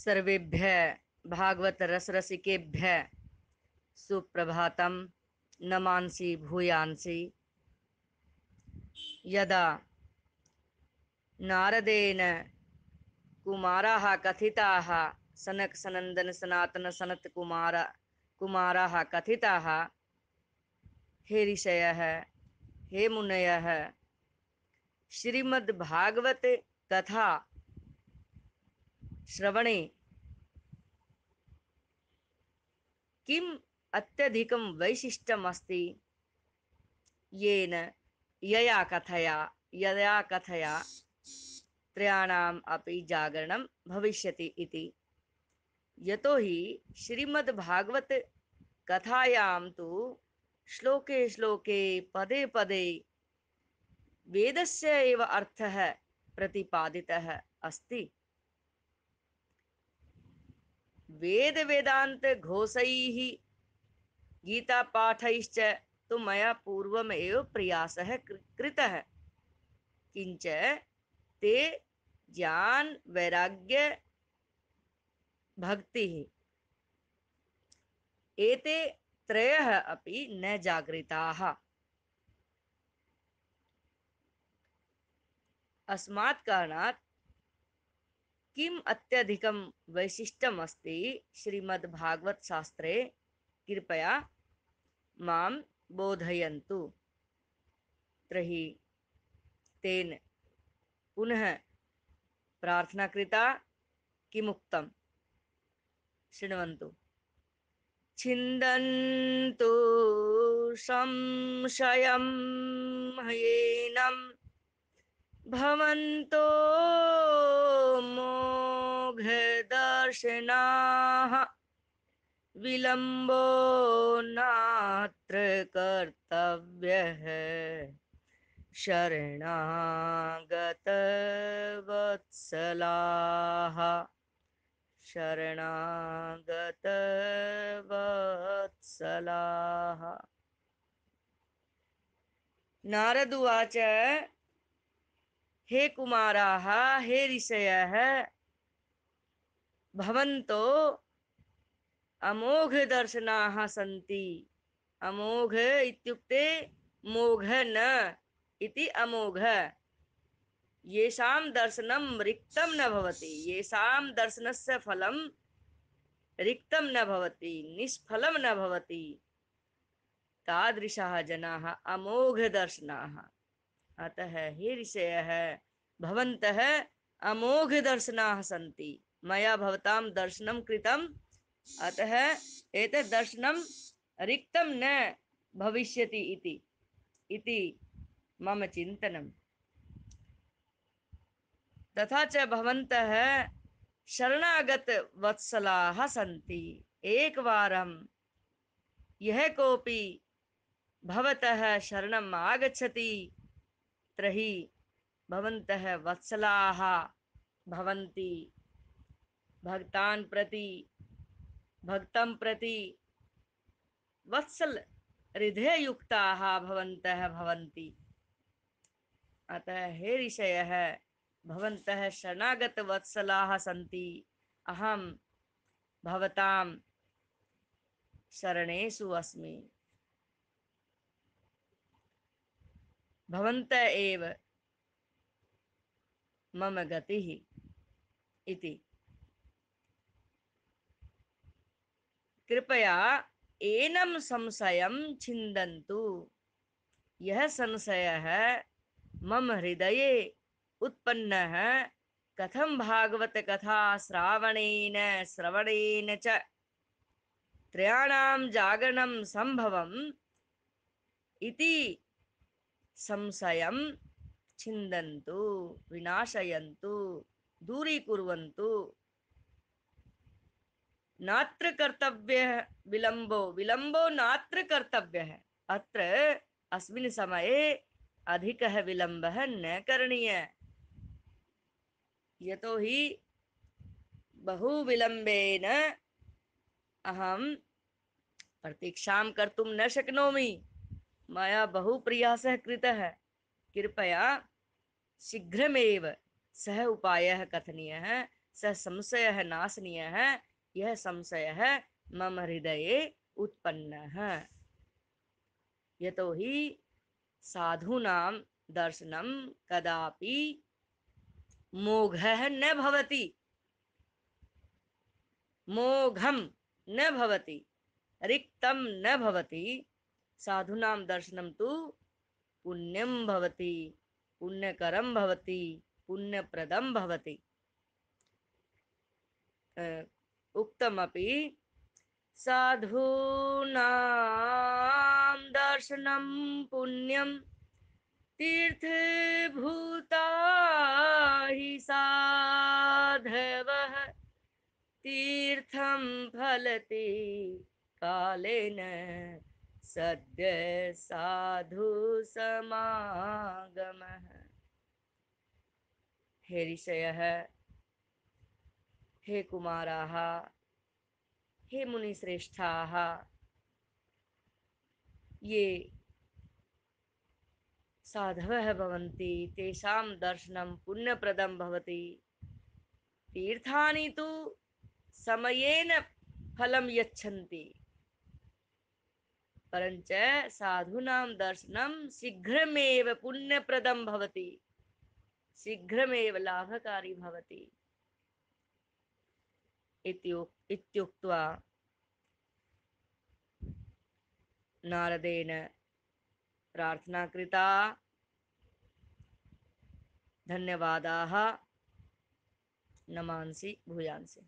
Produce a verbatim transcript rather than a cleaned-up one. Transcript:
सर्वेभ्यः भागवत रसरसिकेभ्यः सुप्रभातं। नमांसि भूयांसि यदा नारदेन कुमाराः कथिताः, सनक सनंदन सनातन सनत कुमार कुमाराः कथिताः, हे ऋषयः, हे मुनयः, श्रीमद् भागवत कथा श्रवणे किम अत्यधिकं वैशिष्ट्यम् अस्ति, येन यया कथया यया कथया त्रयाणाम् अपि जागरणं भविष्यति इति। यतो हि श्रीमद् भागवत कथायां तु श्लोके श्लोके पदे पदे वेदस्य एव अर्थः प्रतिपादितः अस्ति। वेद वेदांत घोषैः गीतापाठैश्च तु मया पूर्वमेव प्रयासः कृतः, किंच ते ज्ञान वैराग्य भक्ति एते त्रयः अपि न जागृताः। अस्मात् कारणात् किम अत्यधिकं वैशिष्ट्यम् अस्ति श्रीमद्भागवत शास्त्रे, कृपया मां बोधयन्तु। तर्हि तेन पुनः प्रार्थना कृता। किमुक्तं शृण्वन्तु। छिन्दन्तु संशयं येनं भवन्तो मोघदर्शनाः, विलम्बो नात्र कर्तव्यः, शरणागत वत्सलाः, शरणागत वत्सलाः। नारद उवाच, हे कुमाराः, हे ऋषयः, भवन्तो अमोघ दर्शनाः सन्ति। अमोघ इत्युक्ते मोघ न इति अमोघ। येषां दर्शनं रिक्तं न भवति, येषां दर्शनस्य फलं रिक्तं न भवति, निष्फलं न भवति, तादृशाः जनाः अमोघ दर्शनाः। अतः हे ऋषयः, भवन्तः अमोघ दर्शनाः सन्ति। मया भवतां दर्शनं कृतम्, अतः एतत् दर्शनं रिक्तं न भविष्यति इति इति मम चिन्तनम्। तथा च भवन्तः शरणागत वत्सलाः सन्ति। एकवारं यः कोऽपि भवतः शरणम् आगच्छति तर्हि भवन्तः वत्सलाः भवन्ति। भक्तान् प्रति भक्तं प्रति वत्सल हृदययुक्ताः भवन्तः भवन्ति। अतः हे ऋषयः, भवन्तः शरणागत वत्सलाः सन्ति। अहं भवतां शरणेषु अस्मि। भवन्तः एव मम गतिः इति। कृपया एनं संशयं छिन्दन्तु। यह संशयः मम हृदये उत्पन्नः कथं भागवत कथा श्रावणेन श्रवणेन च त्रयाणां जागरणं संभवम् इति संशयं छिन्दन्तु, विनाशयन्तु, दूरीकुर्वन्तु। नात्र कर्तव्यः विलम्बो विलम्बो नात्र कर्तव्यः। अत्र अस्मिन् समये अधिकः विलम्बः न करणीयः। यतो हि बहु विलम्बेन अहं प्रतीक्षां कर्तुं न शक्नोमि। मया बहु प्रयासः कृतः। कृपया शीघ्रमेव सः उपायः कथनीयः। स संशयः नाशनीयः, यह संशयः मम हृदये उत्पन्नः। यतो हि साधूनां दर्शनं कदापि मोघः न भवति, मोघम न भवति, रिक्तम न भवति। साधूनां दर्शनं तु पुण्यं भवति, पुण्यकरं भवति, पुण्यप्रदं भवति। उक्तमपि साधूनां दर्शनं पुण्यं तीर्थभूता हि साधवः, तीर्थं फलति कालेन सद्य साधु समागमः। हे ऋषयः, हे कुमाराः, हे मुनिश्रेष्ठाः, ये साधवः भवन्ति तेषां दर्शनं पुण्यप्रदं भवति। तीर्थानि तु समयेन फलं यच्छन्ति, परञ्च साधूनां दर्शनं शीघ्रमेव पुण्यप्रदं भवति, शीघ्रमेव लाभकारी भवति इत्युक्त्वा नारदेन प्रार्थना कृता। धन्यवादाः। नमांसि भूयांसि।